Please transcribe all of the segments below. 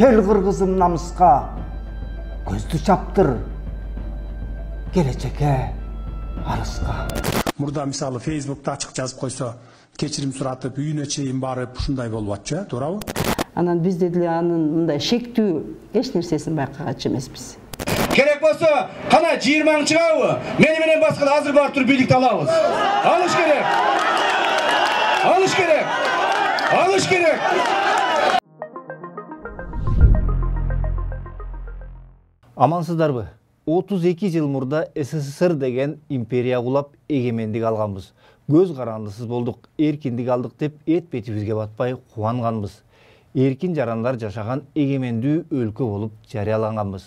Кел кыргызым намыска, көздү чаптыр, келечекке арыска. Мурда мисалы Facebook'ta ачык жазып койсо, кечирим суратып, үйүнө чейин барып, ушундай болуп атчу, туурабы? Анан биз деле анын мындай шектүү эч нерсесин байкагачы эмеспиз. Керек болсо, кана 20 чыгабы? Мени менен баскан азыр барып туруп бийликти алабыз. Алыш керек. Алыш керек. Алыш керек. Амансыздарбы? 32 жыл мурда СССР деген империя кулап эгемендик алганбыз. Көз карандысыз болдук, эркиндик алдык деп эт бетибизге батпай кубанганбыз. Эркин жарандар жашаган эгемендүү өлкө болуп жарыяланганбыз.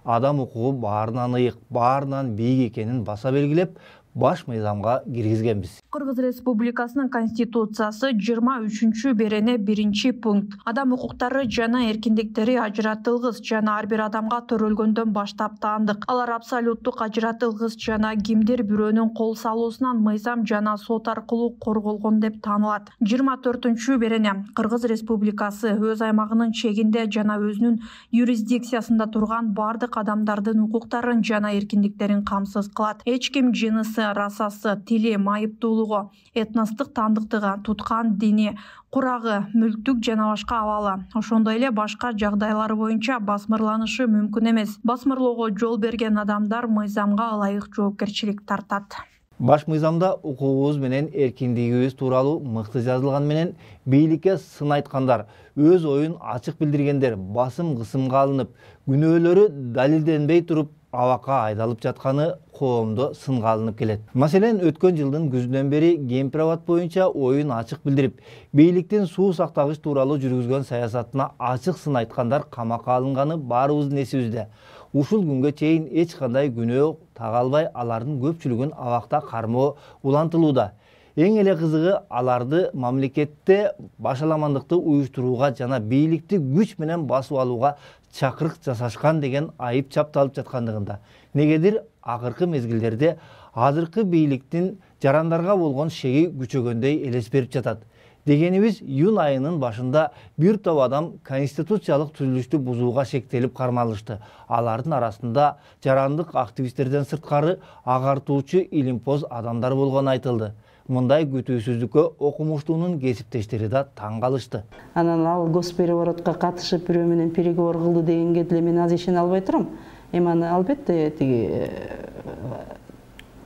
Адам укугу баарынан ыйык, баарынан бийик экенин баса белгилеп, баш мыйзамга киргизгенбиз. Кыргыз Республикасынын Конституциясы 23-берене 1-пункт. Адам укуктары жана эркиндиктери ажыратылгыс жана ар бир адамга төрөлгөндөн баштап таандык. Алар абсолюттук ажыратылгыс жана кимдир бирөөнүн кол салуусунан мыйзам жана сот аркылуу корголгон деп таанылат. 24-берене Кыргыз Республикасы өз аймагынын чегинде жана өзүнүн юрисдикциясында турган бардык адамдардын укуктарын жана эркиндиктерин камсыз кылат. Эч ким жынысы, расасы, тили, майыптуулугу, этностук таандыктыгы, туткан дини, курагы, мүлктүк жана башка абалы, ошондой эле башка жагдайлар боюнча басмырланышы мүмкүн эмес. Басмырлоого жол берген адамдар мыйзамга ылайык жоопкерчилик тартат. Баш мыйзамда укугубуз менен эркиндигибиз тууралуу мыкты жазылган менен бийликке сын айткандар, өз оюн ачык билдиргендер басым-кысымга алынып, күнөөлөрү далилденбей туруп абакка айдалып жатканы коомдо сынга алынып келет. Маселен, өткөн жылдын күзүнөн бери Кемпир-Абад боюнча оюн ачык билдирип, бийликтин суу сактагыч тууралуу жүргүзгөн саясатына ачык сын айткандар камакка алынганы баарыбыздын эсибизде. Ушул күнгө чейин эч кандай күнөө тага албай, алардын көпчүлүгүн абакта кармоо улантылууда. Эң эле кызыгы, аларды мамлекетте башаламандыкты уюштурууга жана бийликти күч менен басып алууга чакырык жасашкан деген айып чапталып жаткандыгында. Негедир акыркы мезгилдерде азыркы бийликтин жарандарга болгон шеги күчөгөндөй элес берип жатат. Дегенибиз, июнь айынын башында бир топ адам конституциялык түзүлүштү бузууга шектелип кармалышты. Алардын арасында жарандык активисттерден сырткары агартуучу илимпоз адамдар болгону айтылды. Мындай күтүүсүздүккө окумуштуунун кесиптештери да таң калышты. Анан ал госпереворотко катышып бирөө менен переговор кылды дегенге деле мен аз ишене албай турам. Эми аны албетте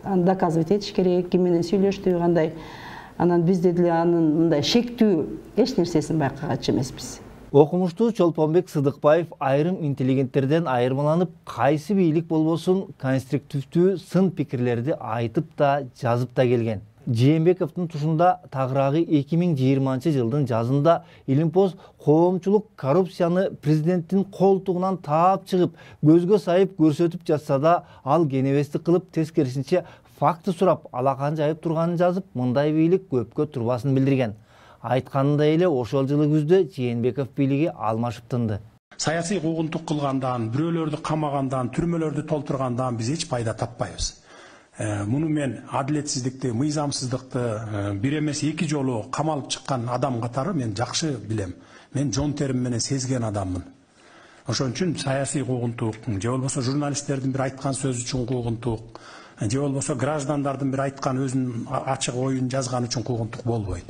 доказывать этиш керек, ким менен сүйлөштү, кандай. Анан биз деле анын мындай шектүү эч нерсесин байкагачы эмеспиз. Окумуштуу Чолпонбек Сыдыкбаев айрым интеллигенттерден айырмаланып, кайсы бийлик болбосун конструктивдүү сын пикирлерди айтып да, жазып да келген. Жээнбековдун тушунда тагыраагы 2020 жылдын жазында илимпоз коомчулук коррупцияны президенттин колтугунан таап чыгып, көзгө сайып көрсөтүп жатса да, ал кенебестик кылып, тескерисинче факты сурап, алакан жайып турганын жазып, мындай бийлик көпкө турбасын билдирген. Айтканындай эле ошол жылы күздө Жээнбеков бийлиги алмашып тынды. Саясий куугунтук кылгандан, бирөөлөрдү камагандан, түрмөлөрдү толтургандан биз эч пайда таппайбыз. Муну мен адилетсиздикти, мыйзамсыздыкты бир эмес эки жолу камалып чыккан адам катары мен жакшы билем. Мен жон терим менен сезген адаммын. Ошон үчүн саясий куугунтук, же болбосо журналисттердин бир айткан сөзү үчүн куугунтук, же болбосо граждандардын бир айткан өзүнүн ачык оюн жазган үчүн куугунтук болбойт.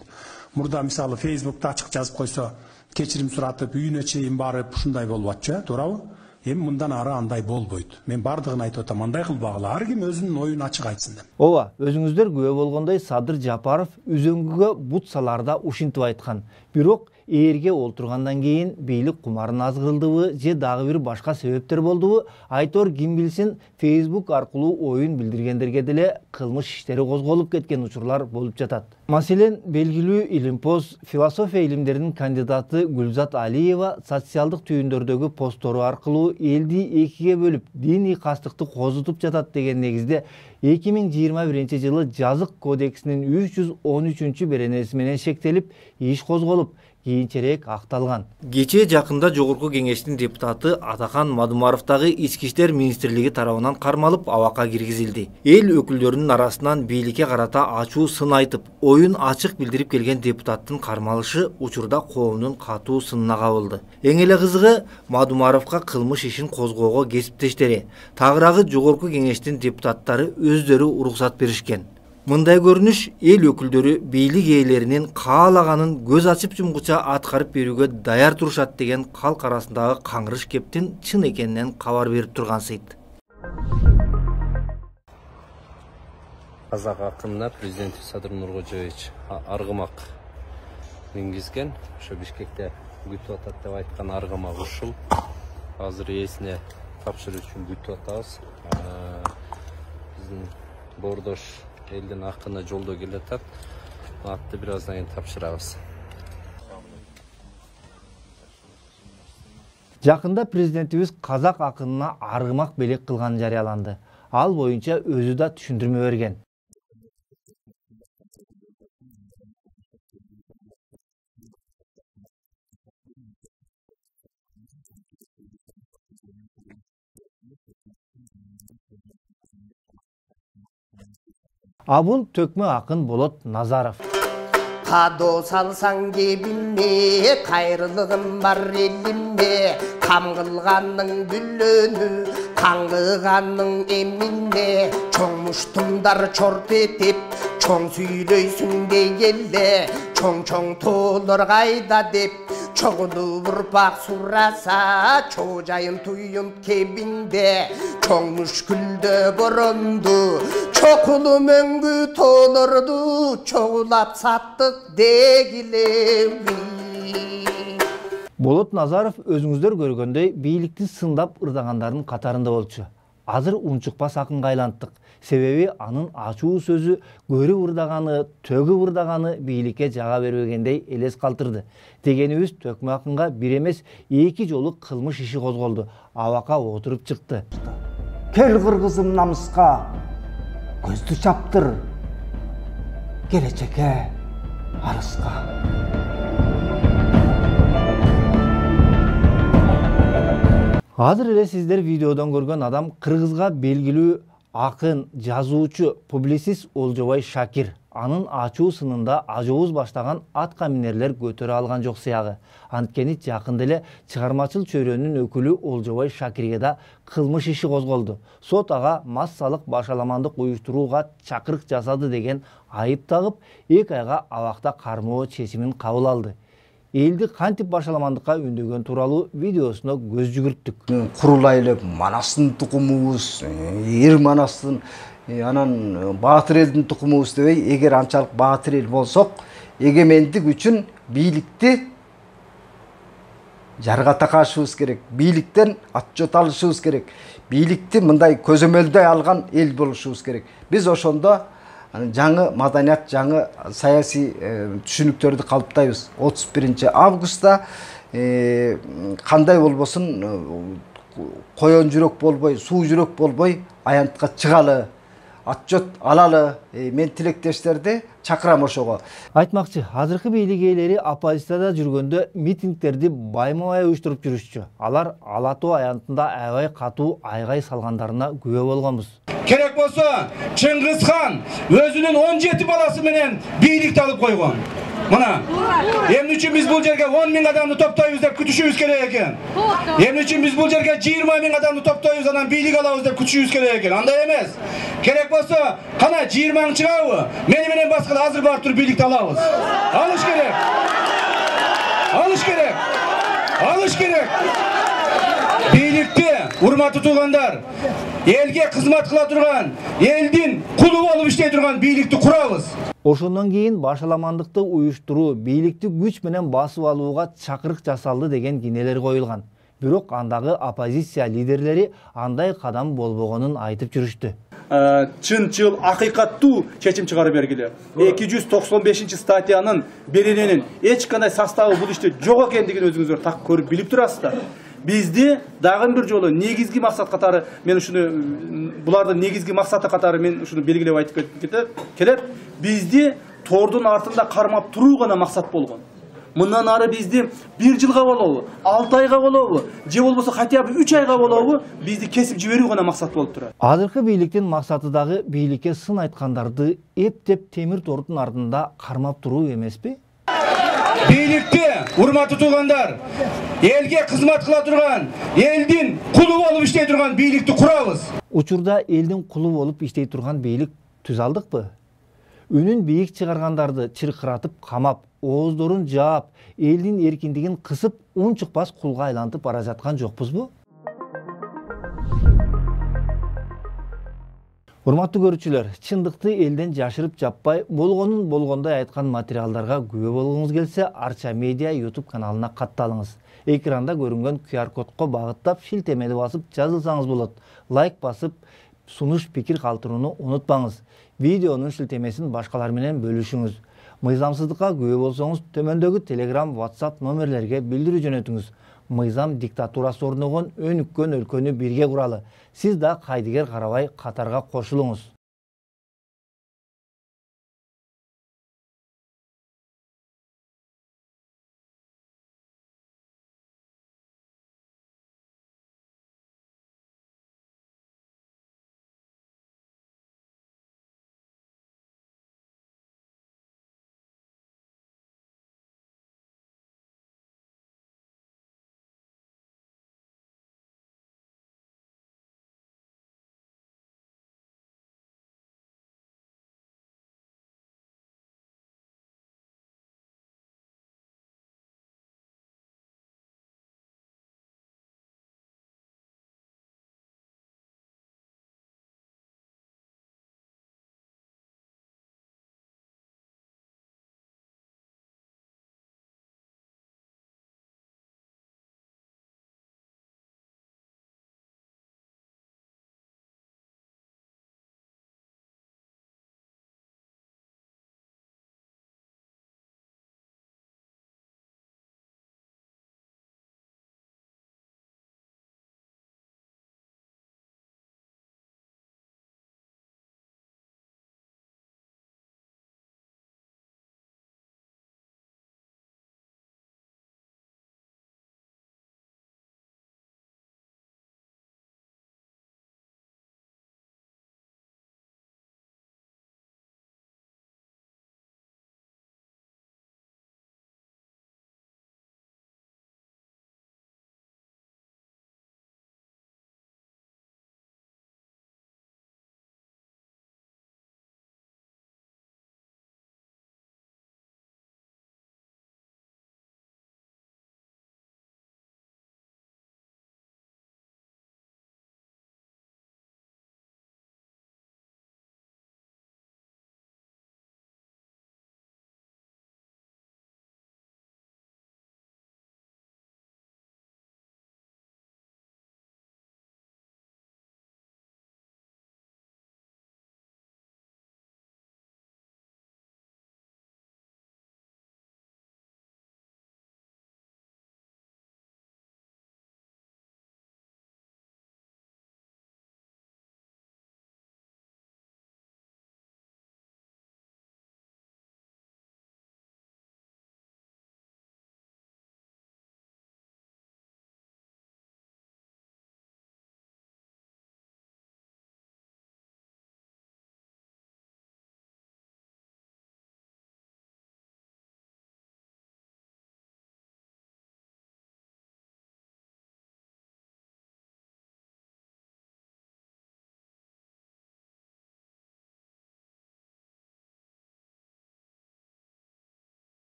Мурда мисалы Facebook'ta ачык жазып койсо, кечирим суратып, үйүнө чейин барып, ушундай болуп атчу, туурабы? Эми мындан ары андай болбойт. Мен бардыгын айтып атам, андай кылбагыла, ар ким өзүнүн оюн ачык айтсын деп. Ооба, өзүңүздөр күбө болгондой Садыр Жапаров үзөңгүгө бут саларда ушинтип айткан. Бирок ээрге олтургандан кийин бийлик кумарын азгырылдыбы же дагы бир башка себептер болдубу, айтор ким билсин, Facebook аркылуу оюн билдиргендерге деле кылмыш иштери козголуп кеткен учурлар болуп жатат. Маселен, белгилүү илимпоз, философия илимдеринин кандидаты Гүлзат Алиева социалдык түйүндөрдөгү посттору аркылуу элди экиге бөлүп, диний кастыкты козутуп жатат деген негизде 2021 жылы Жазык кодексинин 313-беренеси менен шектелип, иш козголуп, кийинчерээк акталган. Кечээ жакында Жогорку Кеңештин депутаты Атакан Мадумаровдагы Ички иштер министрлиги тарабынан кармалып абакка киргизилди. Эл өкүлдөрүнүн арасынан бийликке карата ачуу сын айтып, оюн ачык билдирип келген депутаттын кармалышы учурда коомдун катуу сынына кабылды. Эң эле кызыгы, Мадумаровго кылмыш ишин козгоого кесиптештери, тагыраагы Жогорку Кеңештин депутаттары өздөрү уруксат беришкен. Мындай көрүнүш эл өкүлдөрү бийлик ээлеринин каалаганын көз ачып жумгуча аткарып берүүгө даяр турушат деген калк арасындагы каңгырыш кептин чын экенинен кабар берип тургансыйт. Казак акынына президент Садыр Нуркожоевич аргымак мингизген. Ошо Бишкекте күтүп атат деп айткан аргымак ушул. Азыр ээсине тапшыруу үчүн күтүп атабыз. Биздин бордош элдин акыны жолдо келатат. Атты бир аздан кийин тапшырабыз. Жакында президентибиз казак акынына аргымак белек кылганы жарыяланды. Ал боюнча өзү да түшүндүрмө берген. Абул төкмө акын Болот Назаров. Кадо салсаң кебине, кайрылыгым бар элимде, кам кылганның бүлөнү, каңгыганның эмине, чоң муштумдар чорт этип, чоң сүйлөйсүң дегелде, чоң тоолор кайда деп, чогулуп урпак сураса, чоожайын туюн кебинде, чоң мүшкүлдө боронду, чокулу мөңгү тоолорду, чогулап саттык дегилеби. Болот Назаров өзүңүздөр көргөндөй бийликти сындап ырдагандардын катарында болчу. Азыр унчукпас акынга айланттык. Себеби анын ачуу сөзү көрүп ырдаганы, төгүп ырдаганы бийликке жага бербегендей элес калтырды. Дегенибиз төкмө акынга бир эмес 2 жолу кылмыш иши козголду. Абакка отуруп чыкты. Кел кыргызым намыска, көздү чаптыр, келечекке арыска. Азыр эле сиздер видеодон көргөн адам кыргызга белгилүү акын, жазуучу, публицист Олжобай Шакир. Анын ачуу сынында ажообуз баштаган атка минерлер көтөрө алган жок сыягы. Анткени жакында эле чыгармачыл чөйрөнүн өкүлү Олжобай Шакирге да кылмыш иши козголду. Сот ага массалык башаламандык уюштурууга чакырык жасады деген айып тагып, 2 айга абакта кармоо чечимин кабыл алды. Элди кантип башаламандыкка үндөгөн тууралуу видеосуна көз жүгүрттүк. Курулай эле Манастын тукумубуз, Эр Манастын, анан Баатыр элдин тукумубуз дебей, эгер анчалык баатыр эл болсок, эгемендик үчүн бийликти жарга такашыбыз керек, бийликтен отчет алышыбыз керек, бийликти мындай көзөмөлдөй алган эл болушубуз керек. Биз ошондо жаңы маданият, жаңы саясий түшүнүктөрдү калыптайбыз. 31 августта кандай болбосун коен жүрөк болбой, суу жүрөк болбой аянтка чыгалы, отчет алалы. Мен тилектештерди чакырам ошого. Айтмакчы, азыркы бийлик ээлери оппозицияда жүргөндө митингдерди байма-бай уюштуруп жүрүшчү. Алар Ала Тоо аянтында аябай катуу айгай салгандарына күбө болгонбуз. Керек болсо, Чыңгыз хан өзүнүн 17 баласы менен бийликти алып койгон. Мына, эмне үчүн биз бул жерге 10 000 адамды топтойбуз деп күтүшүбүз керек экен? Эмне үчүн биз бул жерге 20 000 адамды топтойбуз, анан бийлик алабыз деп күтүшүбүз керек экен? Андай эмес. Керек болсо, кана 20 000 чыгабы? Мени менен башка азыр барып туруп бийликти алабыз. Алыш керек. Алыш керек. Алыш керек. Бийликти, урматтуу туугандар, элге кызмат кыла турган, элдин кулу болуп иштей турган бийликти курабыз. Ошондон кийин башаламандыкты уюштуруу, бийликти күч менен басып алууга чакырык жасалды деген кинелер коюлган. Бирок андагы оппозиция лидерлери андай кадам болбогонун айтып жүрүштү. Чын акыйкаттуу чечим чыгарып бергиле. 295 статьянын берененин эч кандай составы бул иште жок экендигин өзүңүздөр так көрүп билип турасыздар. Бизди дагы бир жолу негизги максат катары, мен ушуну булардын негизги максаты катары мен ушуну белгилеп айтып келет. Бизди тордун артында кармап туруу гана максат болгон. Мындан ары бизди 1 жылга болобу, 6 айга болобу, же болбосо хотя бы 3 айга болобу, бизди кесип жиберүү гана максат болуп турат. Азыркы бийликтин максаты дагы бийликке сын айткандарды эптеп темир тордун артында кармап туруу эмеспи? Бийликти, урматтуу туугандар, элге кызмат кыла турган, элдин кулу болуп иштей турган бийликти курабыз. Учурда элдин кулу болуп иштей турган бийлик түз алдыкпы? Үнүн бийик чыгаргандарды чыркыратып камап, ооздорун жаап, элдин эркиндигин кысып, ун чыкпас кулга айлантып бара жаткан жокпузбу? Урматтуу көрүүчүлөр, чындыкты элден жашырып жаппай, болгонун болгондой айткан материалдарга күбө болгуңуз келсе, Арча Медиа YouTube каналына катталыңыз. Экранда көрүнгөн QR кодко багыттап, шилтемени басып жазылсаңыз болот. Лайк басып, сунуш пикир калтырууну унутпаңыз. Видеонун шилтемесин башкалар менен бөлүшүңүз. Мыйзамсыздыкка күбө болсоңуз, төмөндөгү Telegram, WhatsApp номерлерге билдирүү жөнөтүңүз. Мыйзам диктатурасы орногон өнүккөн өлкөнү бирге куралы. Сиз да кайдыгер карабай катарга кошулуңуз.